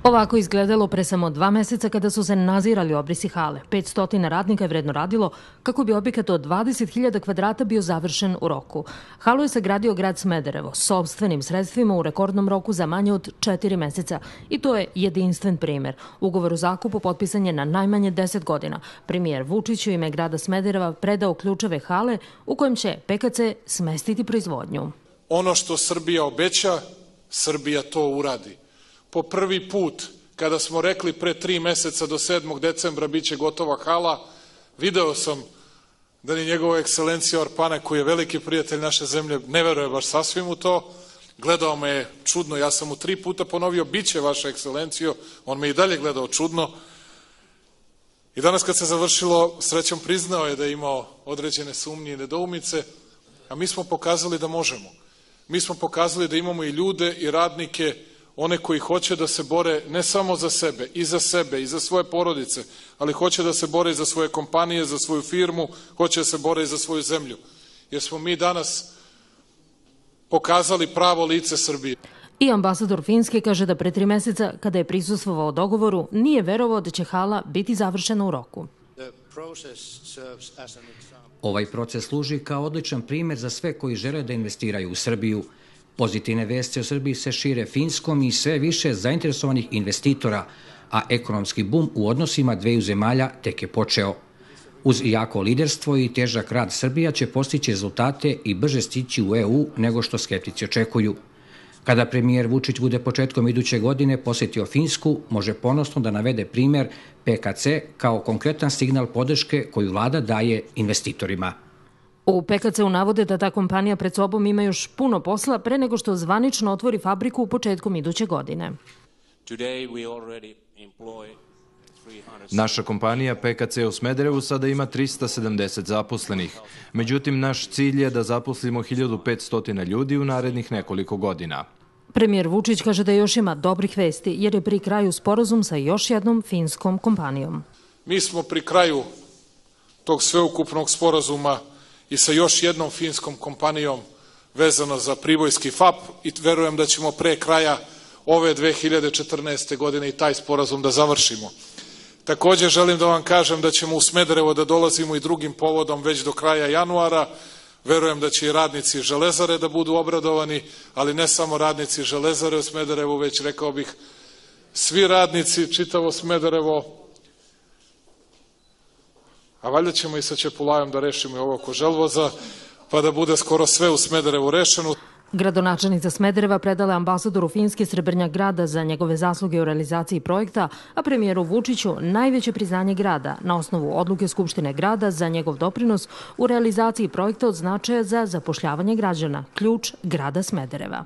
Ovako izgledalo pre samo 2 meseca kada su se nazirali obrisi hale. 500 radnika je vredno radilo kako bi objekat od 20.000 kvadrata bio završen u roku. Halu je sagradio grad Smederevo sopstvenim sredstvima u rekordnom roku za manje od 4 meseca i to je jedinstven primer. Ugovor o zakupu potpisan je na najmanje 10 godina. Premijer Vučić u ime grada Smedereva predao ključeve hale u kojem će PKC smestiti proizvodnju. Ono što Srbija obeća, Srbija to uradi. Po prvi put, kada smo rekli pre 3 meseca do 7. decembra biće gotova hala, video sam da ni njegova ekscelencija Orpane, koji je veliki prijatelj naše zemlje, ne veruje baš sasvim u to. Gledao me je čudno, ja sam mu 3 puta ponovio, biće vaša ekscelencijo, on me i dalje gledao čudno. I danas kad se završilo, srećom priznao je da je imao određene sumnje i nedoumice, a mi smo pokazali da možemo. Mi smo pokazali da imamo i ljude i radnike, one koji hoće da se bore ne samo za sebe i za svoje porodice, ali hoće da se bore i za svoje kompanije, za svoju firmu, hoće da se bore i za svoju zemlju. Jer smo mi danas pokazali pravo lice Srbije. I ambasador Finske kaže da pre 3 meseca, kada je prisustvovao dogovoru, nije verovao da će hala biti završena u roku. Ovaj proces služi kao odličan primjer za sve koji žele da investiraju u Srbiju. Pozitivne vesti o Srbiji se šire Finskom i sve više zainteresovanih investitora, a ekonomski bum u odnosima dveju zemalja tek je počeo. Uz jako liderstvo i težak rad Srbija će postići rezultate i brže stići u EU nego što skeptici očekuju. Kada premijer Vučić bude početkom iduće godine posjetio Finsku, može ponosno da navede primjer PKC kao konkretan signal podrške koju vlada daje investitorima. U PKC-u navode da ta kompanija pred sobom ima još puno posla pre nego što zvanično otvori fabriku u početkom iduće godine. Naša kompanija PKC u Smederevu sada ima 370 zaposlenih. Međutim, naš cilj je da zaposlimo 1500 ljudi u narednih nekoliko godina. Premijer Vučić kaže da još ima dobrih vesti jer je pri kraju sporazum sa još jednom finskom kompanijom. Mi smo pri kraju tog sveukupnog sporazuma i sa još jednom finskom kompanijom vezano za pribojski FAP i verujem da ćemo pre kraja ove 2014. godine i taj sporazum da završimo. Također želim da vam kažem da ćemo u Smederevo da dolazimo i drugim povodom već do kraja januara. Verujem da će i radnici Železare da budu obradovani, ali ne samo radnici Železare u Smederevu, već rekao bih svi radnici, čitavo Smederevo. A valjda ćemo i sa Čepulajom da rešimo i ovo oko Želvoza, pa da bude skoro sve u Smederevu rešeno. Gradonačelnica Smedereva predala je ambasadoru Finske Srebrnjak grada za njegove zasluge u realizaciji projekta, a premijeru Vučiću najveće priznanje grada na osnovu odluke Skupštine grada za njegov doprinos u realizaciji projekta od značaja za zapošljavanje građana, ključ grada Smedereva.